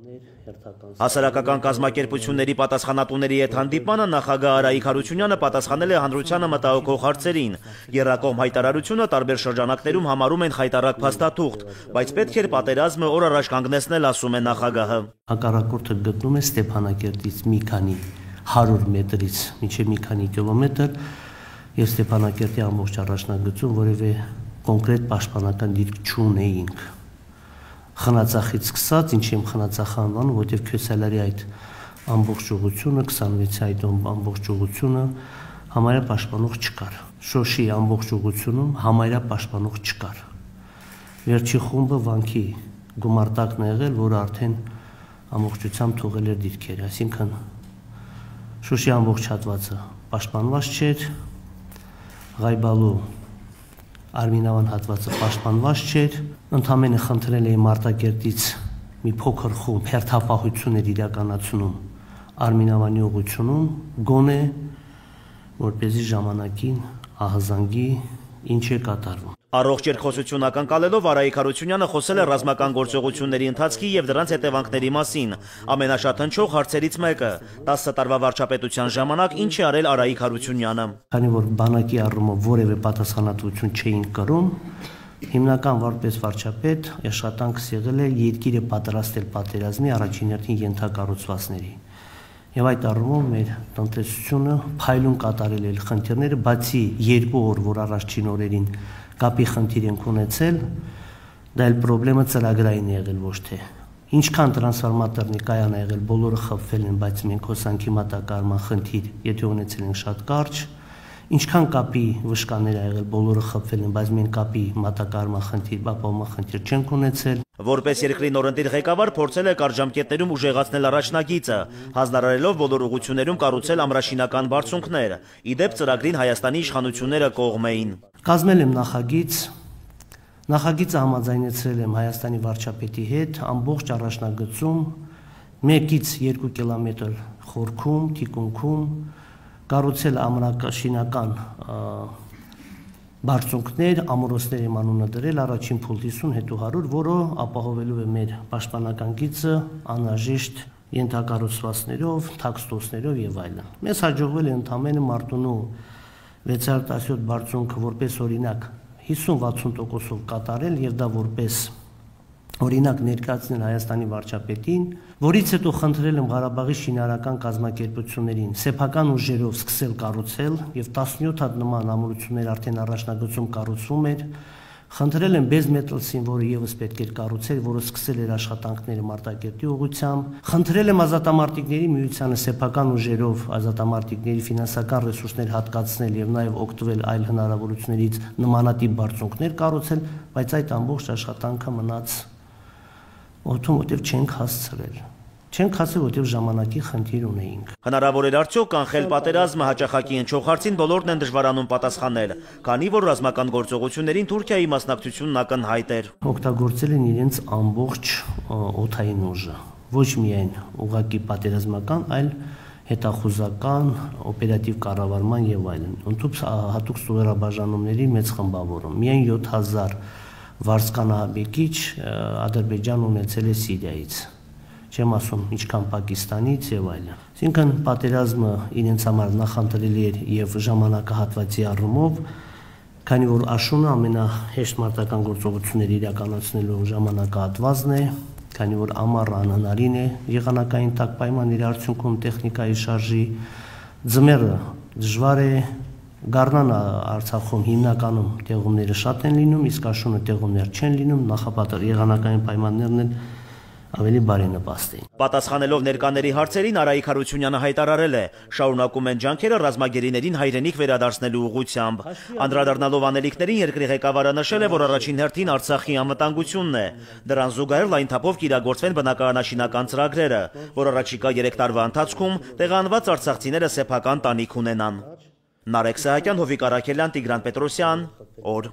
Հասարակական կազմակերպությունների պատասխանատուների հետ հանդիպմանը նախագահ Արայիկ Հարությունյանը պատասխանել է հանրությանը մտահոգող հարցերին։ Եռակողմ հայտարարությունը տարբեր շրջանակներում համարում են խայտառակ փաստաթուղթ, բայց պետք էր պատերազմը օր առաջ կանգնեցնել, ասում է նախագահը։ Հակառակորդը գտնում է Ստեփանակերտից մի քանի 100 մետրից մինչև մի քանի կիլոմետր եւ Ստեփանակերտի ամբողջ առաջնագծում որևէ կոնկրետ պաշտպանական դիրք չունեինք։ Խնածախից սկսած, ինչ եմ խնածախ անվանում, որտեղ Քյոսալարի այդ ամբողջ ուղությունը, 26-ի այդ ամբողջ ուղությունը համարյա պաշտպանող չկար։ Շոշի ամբողջ ուղությունում համարյա պաշտպանող չկար։ Վերջի խումբը վանքի գումարտակն է եղել, որը արդեն ամբողջությամբ թողել էր դիրքերը, այսինքն Շոշի ամբողջ հատվածը պաշտպանված չէր, Ղայբալու Արմինավան հատվածը պաշտպանված չէր, ընդամենը խնդրել էի Մարտակերտից մի փոքր խումբ հերթապահություններ իրականացնում Արմինավանի ուղությունում, գոնե որպեսզի ժամանակին ահազանգի ինչ է կատարվում։ Առողջ երկխոսություն ակնկալելով Արայիկ Հարությունյանը խոսել է ռազմական գործողությունների ընթացքի եւ դրանց հետևանքների մասին։ Ամենաշատ հնչող հարցերից մեկը՝ 10 տարվա վարչապետության ժամանակ ինչ է արել Արայիկ Հարությունյանը։ Քանի որ բանակի առումով որևէ պատասխանատվություն չէին կրում, հիմնական որպես վարչապետ աշխատանքս եղել է երկիրը պատրաստել պատերազմի առաջին հերթին ենթակառուցվածքների։ Եվ այդ առումով մեր տնտեսությունը փայլուն կատարել է խնդիրները, բացի 2 օր, որ առաջին օրերին կապի խնդիր ենք ունեցել, դա էլ պրոբլեմը ծրագրային է եղել ոչ թե։ Ինչքան տրանսֆորմատորնի կայան է եղել, բոլորը խփվել են, բայց մենք հոսանքի մատակարարման խնդիր, եթե ունեցել ենք շատ կարճ, ինչքան կապի վշկաներ ա եղել, բոլորը խփվել են, բայց մենք կապի մատակարարման խնդիր, բապահովման խնդիր չենք ունեցել։ Որպես երկրի նորընտիր ղեկավար փորձել է կարճ ժամկետներում ուժեղացնել առաջնագիծը, հանձնարարելով բոլոր ուղղություններում կառուցել ամրաշինական բարձունքներ։ Իդեպ ծրագրին Հայաստանի իշխանությունները կողմ էին։ Կազմել եմ նախագիծը համաձայնեցրել եմ Հայաստանի վարչապետի հետ ամբողջ առաջնագծում 1-ից 2 կիլոմետր խորքում, թիկունքում կառուցել ամրաշինական բարձունքներ, ամորոցներ եմ անունը դրել, առաջին փուլ 50, հետո 100, որը ապահովելու է մեր պաշտպանական գիծը անհրաժեշտ ենթակառուցվածքներով, թաքստոցներով եւ այլն։ Մեզ հաջողվել է ընդամենը Մարտունու 617 բարձունքը որպես օրինակ 50-60%-ով կատարել եւ դա որպես օրինակ ներկայացնել Հայաստանի վարչապետին, որից հետո խնդրել եմ Ղարաբաղի շինարարական կազմակերպություններին սեփական ուժերով սկսել կառուցել եւ 17 հատ նման ամրություններ արդեն առաջնագծում կառուցվում էր։ Խնդրել եմ Բեզմետալսին, որը եւս պետք էր կառուցել, որը սկսել էր աշխատանքները Մարտակերտի ուղղությամբ։ Խնդրել եմ ազատամարտիկների միությանը սեփական ուժերով ազատամարտիկների ֆինանսական ռեսուրսներ հատկացնել եւ նաեւ օգտվել այլ հնարավորություններից նմանատիպ բարձունքներ կառուցել, բայց այդ ամբողջ աշխատանքը մնաց օդում, որտեղ չենք հասցրել։ Չենք հասել, որտեղ ժամանակի խնդիր ունեինք։ Հնարավոր էր արդյոք կանխել պատերազմը հաճախակի հնչող հարցին բոլորն են դժվարանում պատասխանել, քանի որ ռազմական գործողություններին Թուրքիայի մասնակցությունն ակնհայտ էր։ Օգտագործել են իրենց ամբողջ օդային ուժը, ոչ միայն ուղղակի պատերազմական, այլ հետախուզական, օպերատիվ կառավարման եւ այլն։ Ընդհանուր հատուկ ստորաբաժանումների մեծ խմբավորում։ Միայն 7000 վարձկանահաբեկիչ Ադրբեջան ունեցել է Սիրիայից։ Չեմ ասում ինչքան Պակիստանից եւ այլն։ Այսինքն պատերազմը իրենց համար նախընտրելի էր եւ ժամանակահատվածի առումով, քանի որ աշունը ամենահեշտ մարտական գործողությունները իրականացնելու ժամանակահատվածն է, քանի որ ամառը անհնարին է եղանակային տակ պայմանների արդյունքում տեխնիկայի շարժի, ձմեռը դժվար է, Գառնանը Արցախում հիմնականում տեղումները շատ են լինում, իսկ աշունը տեղումներ չեն լինում, նախապատար եղանակային պայմաններն են ավելի բարենպաստ էին։ Պատասխանելով ներկաների հարցերին Արայիկ Հարությունյանը հայտարարել է, շարունակում են ջանքերը ռազմագերիներին հայրենիք վերադարձնելու ուղղությամբ։ Անդրադառնալով անելիքներին երկրի ղեկավարը նշել է, որ առաջին հերթին Արցախի անվտանգությունն է։ Դրան զուգահեռ լայն թափով կիրագործվեն բնակարանաշինական ծրագրերը, որ առաջիկա 3 տարվա ընթացքում տեղանված արցախցիները սեփական տանիք ունենան։ Նարեկ Սահակյան, Հովիկ Արաքելյան, Տիգրան Պետրոսյան, օր։